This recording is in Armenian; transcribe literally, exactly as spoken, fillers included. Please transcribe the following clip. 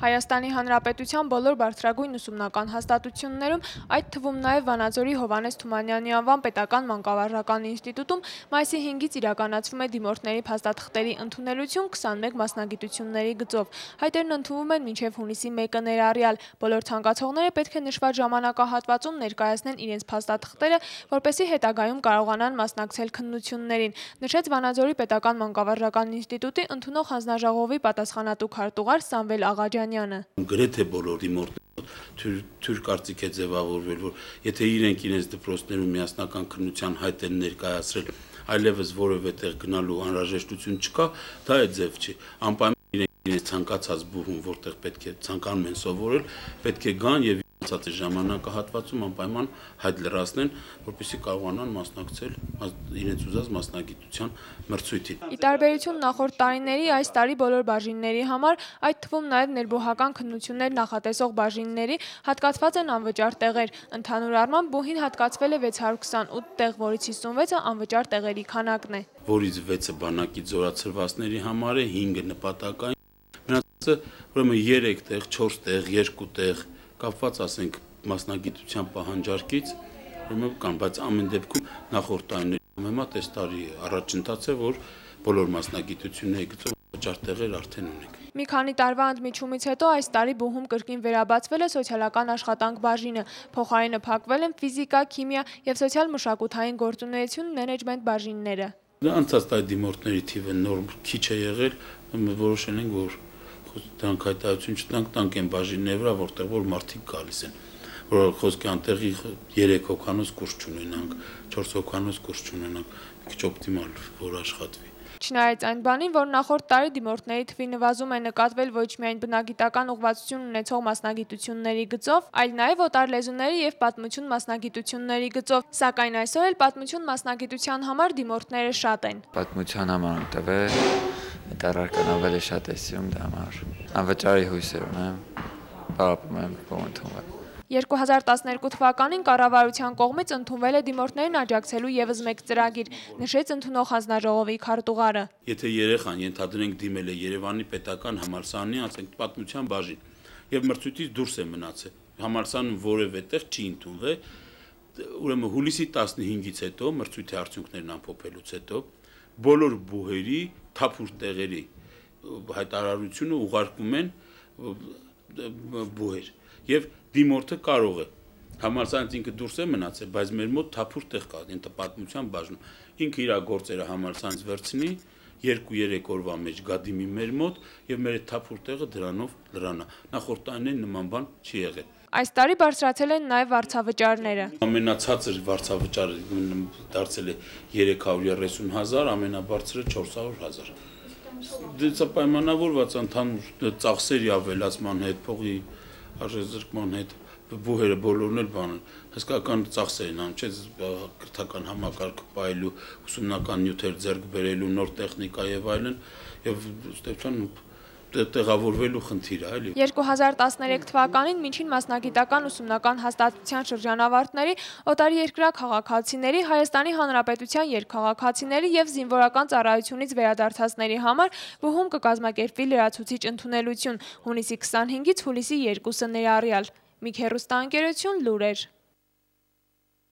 Հայաստանի Հանրապետության բոլոր բարձրագույն ուսումնական հաստատություններում, այդ թվում նաև Վանաձորի Հովհաննես Թումանյանի անվան պետական մանկավարժական ինստիտուտում մայիսի հինգից իրականացվում է դիմորդների փաստաթղթերի ընդունելություն քսանմեկ մասնագիտությունների գծով։ Հայտերն ընդունվում են մինչև հունիսի մեկը ներառյալ։ Բոլոր ցանկացողները պետք է նշված ժամանակահատվածում ներկայացնեն իրենց փաստաթղթերը, որպեսզի հետագայում կարողանան մասնակցել քննություններին, նշեց Վանաձորի պետական մանկավարժական ինստիտուտի ընդունող հանձնաժողովի պատասխանատու քարտուղար Սամվել Աղաջանյանը։ Գրեթե բոլոր դիմորդները թույլ կարծիք է ձևավորվել, որ եթե իրենք իրենց դպրոցներում միասնական քննության հայտ են ներկայացրել, այլևս որևէ տեղ գնալու անհրաժեշտություն չկա, դա է ձև չի։ Անպայման իրենք իրենց ցանկացած բուհում, որտեղ պետք է ցանկանում են սովորել, պետք է գան եւ ցած ժամանակահատվածում անպայման հայտ լրացնեն, որպեսզի կարողանան մասնակցել իրենց ուզած մասնագիտության մրցույթին։ Ի տարբերություն նախորդ տարիների, այս տարի բոլոր բաժինների համար, այդ թվում նաև ներբուհական քննություններ նախատեսող բաժինների, հատկացված են անվճար տեղեր։ Ընդհանուր առմամբ բուհին հատկացվել է վեց հարյուր քսանութ տեղ, որից հիսունվեցը անվճար տեղերի քանակն է։ Որից վեցը բանակից զորացրվածների համար է, հինգը նպատակային, մնացածը ուրեմն երեք տեղ, չորս տեղ, երկու տեղ կապված ասենք մասնագիտության պահանջարկից, ուրեմն կան, բայց ամեն դեպքում նախորդ տարիների համեմատ այս տարի առաջընթաց է, որ բոլոր մասնագիտությունների գծով վճար տեղեր արդեն ունենք։ Մի քանի տարվա ընդմիջումից հետո այս տարի բուհում կրկին վերաբացվել է սոցիալական աշխատանք բաժինը, փոխարենը փակվել են ֆիզիկա, քիմիա եւ սոցիալ-մշակութային գործունեություն մենեջմենտ բաժինները։ Անցած տարի դիմորդների թիվը նոր քիչ է եղել, որոշել ենք, որ դրանք հայտարարություն չտանք, տանք են բաժինների վրա, որտեղ որ մարդիկ գալիս են, որ խոսքի անտեղի երեք հոգանոց կուրս չունենանք, չորս հոգանոց կուրս չունենանք, քիչ օպտիմալ որ աշխատվի։ Չնայած այն բանին, որ նախորդ տարի դիմորդների թվի նվազում է նկատվել ոչ միայն բնագիտական ուղղվածություն ունեցող մասնագիտությունների գծով, այլ նաև օտարլեզուների եւ պատմություն մասնագիտությունների գծով, սակայն այսօր էլ պատմություն մասնագիտության համար դիմորդները շատ են։ Պատմության համար տվել Դարարքան ավելի շատ է սիրում դա համար։ Անվճարի հույսեր ունեմ, պարապում եմ փոխընդունվել։ երկու հազար տասներկու թվականին կառավարության կողմից ընդունվել է դիմորդներին աջակցելու եւս մեկ ծրագիր, նշեց ընդունող հանձնաժողովի քարտուղարը։ Եթե երեխան ենթադրենք դիմել է Երևանի պետական համալսարանի, ասենք պատմության բաժին, եւ մրցույթից դուրս է մնացել, համալսարանում որևէ տեղ չի ընդունվել, ուրեմն հուլիսի տասնհինգից հետո մրցույթի արդյունքներն ամփոփելուց հետո բոլոր բուհերի թափուր տեղերի հայտարարությունը ուղարկում են բուհեր եւ դիմորդը կարող է համալսարանից ինքը դուրս է մնացել, բայց մեր մոտ թափուր տեղ կա, ինքը պատմության բաժնում, ինքը իր գործերը համալսարանից վերցնի, երկու-երեք օրվա մեջ գա դիմի մեր մոտ եւ մեր այդ թափուր տեղը դրանով լրանա։ Նախորդ տարիներին նման բան չի եղել։ Այս տարի բարձրացել են նաև վարձավճարները։ Ամենացածր վարձավճարը դարձել է երեք հարյուր երեսուն հազար, ամենաբարձրը չորս հարյուր հազար։ Դա պայմանավորված ընդհանուր ծախսերի ավելացման հետ, փողի արժեզրկման հետ, բուհերը բոլորն էլ բան հսկական ծախսեր են անում, չէ՞, կրթական համակարգը պահելու, ուսումնական նյութեր ձեռք բերելու, նոր տեխնիկա եւ այլն, եւ ստեփան տեղավորվելու խնդիր է, էլի։ երկու հազար տասներեք թվականին միջին մասնագիտական ուսումնական հաստատության շրջանավարտների, օտարերկրյա քաղաքացիների, Հայաստանի Հանրապետության երկքաղաքացիների եւ զինվորական ծառայությունից վերադարձածների համար բուհում կկազմակերպվի լրացուցիչ ընդունելություն հունիսի քսանհինգից հուլիսի երկուսը ներառյալ։ Մի հեռուստաընկերություն լուրեր։